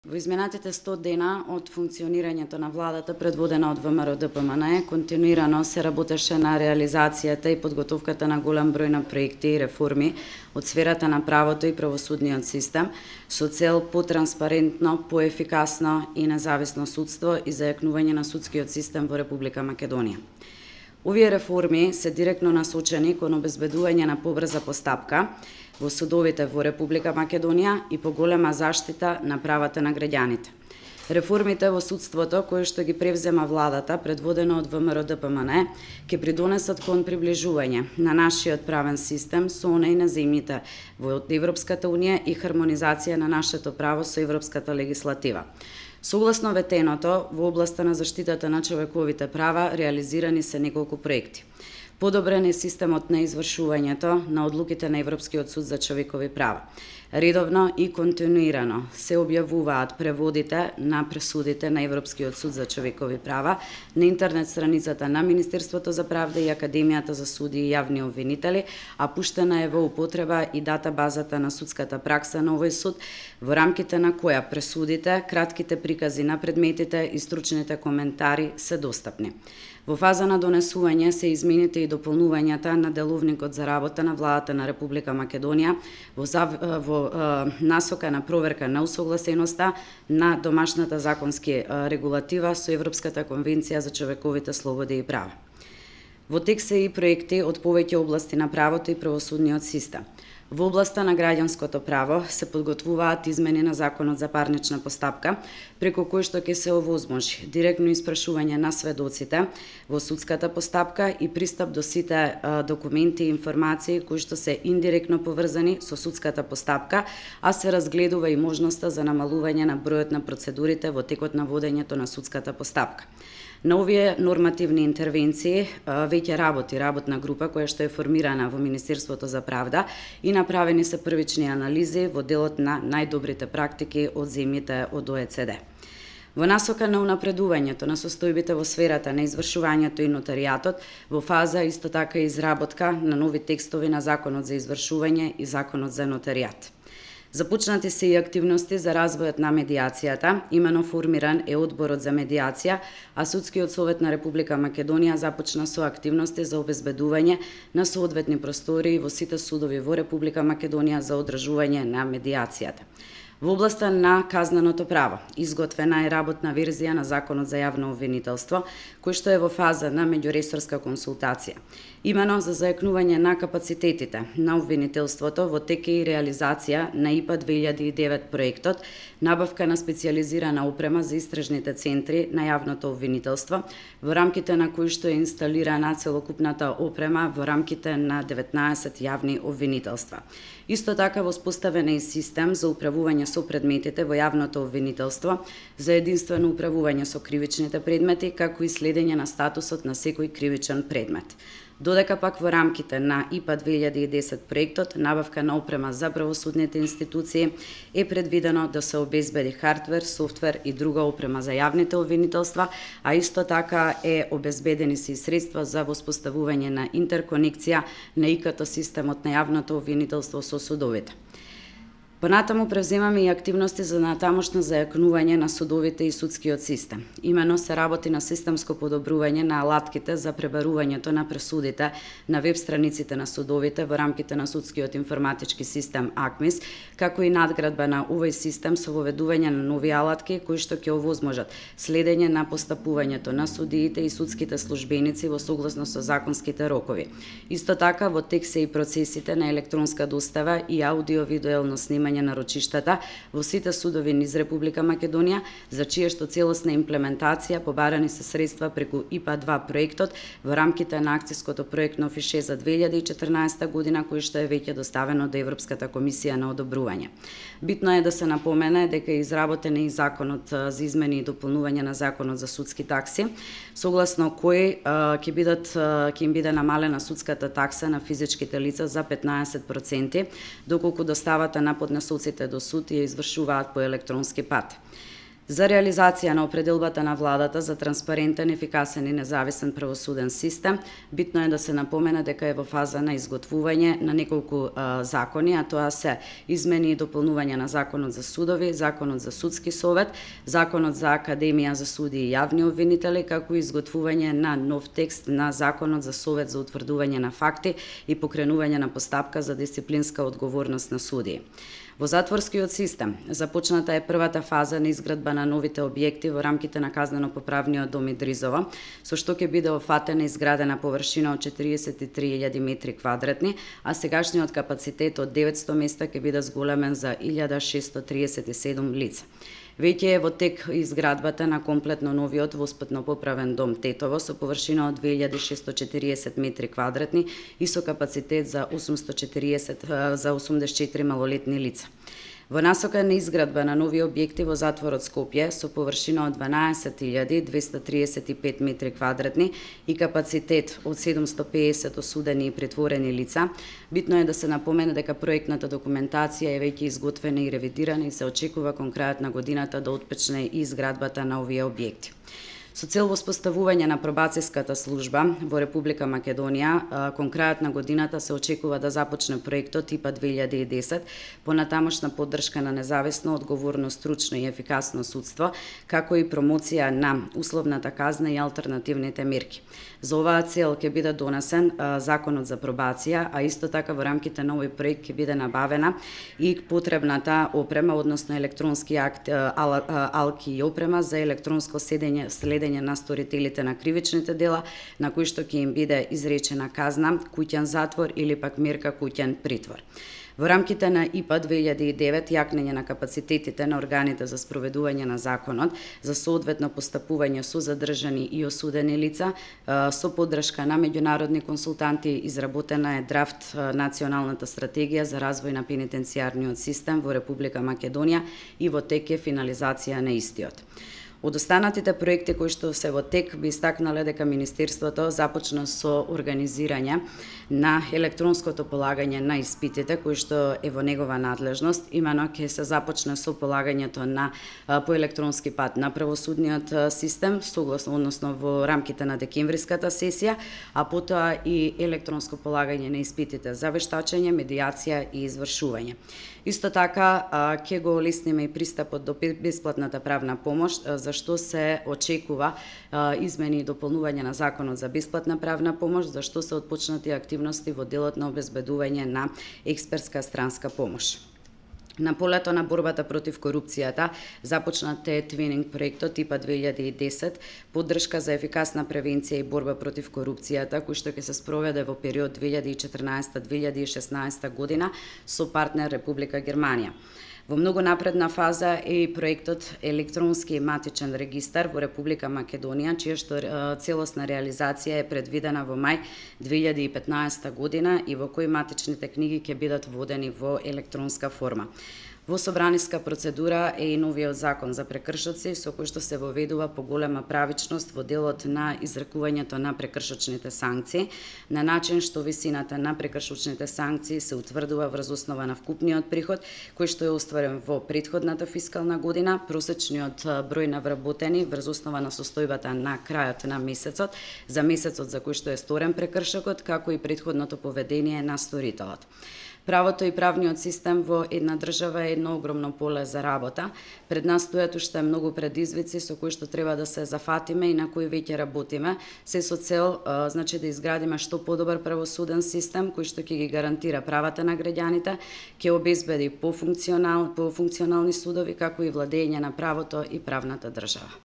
Во изминатите 100 дена од функционирањето на владата предводена од ВМРО-ДПМНЕ, континуирано се работеше на реализацијата и подготовката на голем број на проекти и реформи од сферата на правото и правосудниот систем со цел потранспарентно, поефикасно и независно судство и зајакнување на судскиот систем во Република Македонија. Овие реформи се директно насочени кон обезбедување на побрза постапка во судовите во Република Македонија и поголема заштита на правата на граѓаните. Реформите во судството, кои што ги превзема владата, предводено од ВМРО-ДПМНЕ, ќе придонесат кон приближување на нашиот правен систем со онај на земјите во Европската Унија и хармонизација на нашето право со европската легислатива. Согласно ветеното, во областа на заштитата на човековите права реализирани се неколку проекти. Подобрен е системот на извршувањето на одлуките на Европскиот суд за човекови права. Редовно и континуирано се објавуваат преводите на пресудите на Европскиот суд за човекови права на интернет страницата на Министерството за правда и Академијата за суди и јавни обвинители, а пуштена е во употреба и датабазата на судската пракса на овој суд, во рамките на која пресудите, кратките прикази на предметите и стручните коментари се достапни. Во фаза на донесување се измените и дополнувањата на деловникот за работа на владата на Република Македонија во насока на проверка на усогласеноста на домашната законски регулатива со Европската конвенција за човековите слободи и права. Во тек се и проекти од повеќе области на правото и правосудниот систем. Во областа на граѓанското право се подготвуваат измени на Законот за парнична постапка, преку кој што ќе се овозможи директно испрашување на сведоците во судската постапка и пристап до сите документи и информации кои што се индиректно поврзани со судската постапка, а се разгледува и можноста за намалување на бројот на процедурите во текот на водењето на судската постапка. На овие нормативни интервенции веќе работи работна група која што е формирана во Министерството за правда и направени се првични анализи во делот на најдобрите практики од земјите од ОЕЦД. Во насока на унапредувањето на состојбите во сферата на извршувањето и нотаријатот, во фаза исто така изработка на нови текстови на Законот за извршување и Законот за нотаријат. Започнати се и активности за развојот на медијацијата, имено формиран е Одборот за медијација, а Судскиот совет на Република Македонија започна со активности за обезбедување на соодветни простории во сите судови во Република Македонија за одржување на медијацијата. Во областа на казненото право, изготвена е работна верзија на Законот за јавно обвинителство, кој што е во фаза на меѓуресорска консултација. Имено за зајакнување на капацитетите на обвинителството во тек и реализација на ИПА 2009 проектот, набавка на специјализирана опрема за истражните центри на јавното обвинителство, во рамките на кој што е инсталирана целокупната опрема во рамките на 19 јавни обвинителства. Исто така воспоставен е систем за управување со предметите во јавното обвинителство, за единствено управување со кривичните предмети, како и следење на статусот на секој кривичен предмет. Додека пак во рамките на ИПА 2010 проектот, набавка на опрема за правосудните институции е предвидено да се обезбеди хардвер, софтвер и друга опрема за јавните обвинителства, а исто така е обезбедени се и средства за воспоставување на интерконекција на ИКТ системот на јавното обвинителство со судовите. Понатаму превземаме и активности за натамошно зајакнување на судовите и судскиот систем. Имено се работи на системско подобрување на алатките за пребарувањето на пресудите на веб страниците на судовите во рамките на судскиот информатички систем АКМИС, како и надградба на овој систем со воведување на нови алатки кои што ќе овозможат следење на постапувањето на судиите и судските службеници во согласно со законските рокови. Исто така во тек се и процесите на електронска достава и аудио-видуелно снимање на рочиштата во сите судови низ Република Македонија, за чија што целосна имплементација побарани се средства преку ИПА 2 проектот во рамките на акцијското проектно фише за 2014 година, кој што е веќе доставено до Европската комисија на одобрување. Битно е да се напомене дека е изработен и Законот за измени и дополнување на Законот за судски такси, согласно кој ќе им биде намалена судската такса на физичките лица за 15%, доколку доставата на поднесоците до суд ја извршуваат по електронски пат. За реализација на определбата на владата за транспарентен, ефикасен и независен правосуден систем, битно е да се напомене дека е во фаза на изготвување на неколку закони, а тоа се измени и дополнување на Законот за судови, Законот за судски совет, Законот за Академија за суди и јавни обвинители, како и изготвување на нов текст на Законот за совет за утврдување на факти и покренување на постапка за дисциплинска одговорност на судии. Во затворскиот систем започната е првата фаза на изградба на новите објекти во рамките на Казнено-поправниот дом Идризово, со што ќе биде офатена изградена површина од 43.000 метри квадратни, а сегашниот капацитет од 900 места ќе биде зголемен за 1.637 лица. Веќе е во тек изградбата на комплетно новиот воспитно-поправен дом Тетово со површина од 2.640 метри квадратни и со капацитет за 84 малолетни лица. Во насока на изградба на нови објекти во затворот Скопје со површина од 12.235 метри квадратни и капацитет од 750 осудени и претворени лица, битно е да се напомене дека проектната документација е веќе изготвена и ревидирана и се очекува кон крајот на годината да отпочне и изградбата на овие објекти. Со цел воспоставување на пробацијската служба во Република Македонија, кон крајот на годината се очекува да започне проектот ИПА 2010, понатамошна поддршка на независно, одговорно, стручно и ефикасно судство, како и промоција на условната казна и алтернативните мерки. За оваа цел ќе биде донесен Законот за пробација, а исто така во рамките на овој проект ќе биде набавена и потребната опрема, односно електронски алки и опрема за електронско следење на сторителите на кривичните дела, на кои што ќе им биде изречена казна, куќен затвор или пак мерка куќен притвор. Во рамките на ИПА 2009 јакнење на капацитетите на органите за спроведување на законот, за соодветно постапување со задржани и осудени лица, со поддршка на меѓународни консултанти, изработена е драфт Националната стратегија за развој на пенитенцијарниот систем во Република Македонија и во тек е финализација на истиот. Од останатите проекти кои што се во тек би истакнале дека Министерството започна со организирање на електронското полагање на испитите кои што е во негова надлежност, имено ќе се започне со полагањето на по електронски пат на правосудниот систем, согласно односно во рамките на декемвриската сесија, а потоа и електронско полагање на испитите за вештачење, медијација и извршување. Исто така ќе го олесниме и пристапот до бесплатната правна помош, за што се очекува измени и дополнување на Законот за бесплатна правна помош, за што се отпочнати активности во делот на обезбедување на експертска странска помош. На полето на борбата против корупцијата започнате твининг проектот ИПА 2010, поддршка за ефикасна превенција и борба против корупцијата, кој што ќе се спроведе во период 2014-2016 година со партнер Република Германија. Во многу напредна фаза е и проектот Електронски матичен регистар во Република Македонија, чија што целосна реализација е предвидена во мај 2015 година и во кој матичните книги ќе бидат водени во електронска форма. Во собраниска процедура е и новиот закон за прекршоци, со кој што се воведува поголема правичност во делот на изрекувањето на прекршочните санкции, на начин што висината на прекршочните санкции се утврдува врз основа на вкупниот приход, кој што е остварен во претходната фискална година, просечниот број на вработени врз основа на состојбата на крајот на месецот, за месецот за кој што е сторен прекршокот, како и претходното поведение на сторителот. Правото и правниот систем во една држава е едно огромно поле за работа. Пред нас стојат уште многу предизвици со кои што треба да се зафатиме и на кои веќе работиме, се со цел да изградиме што подобар правосуден систем кој што ќе ги гарантира правата на граѓаните, ќе обезбеди пофункционални судови како и владење на правото и правната држава.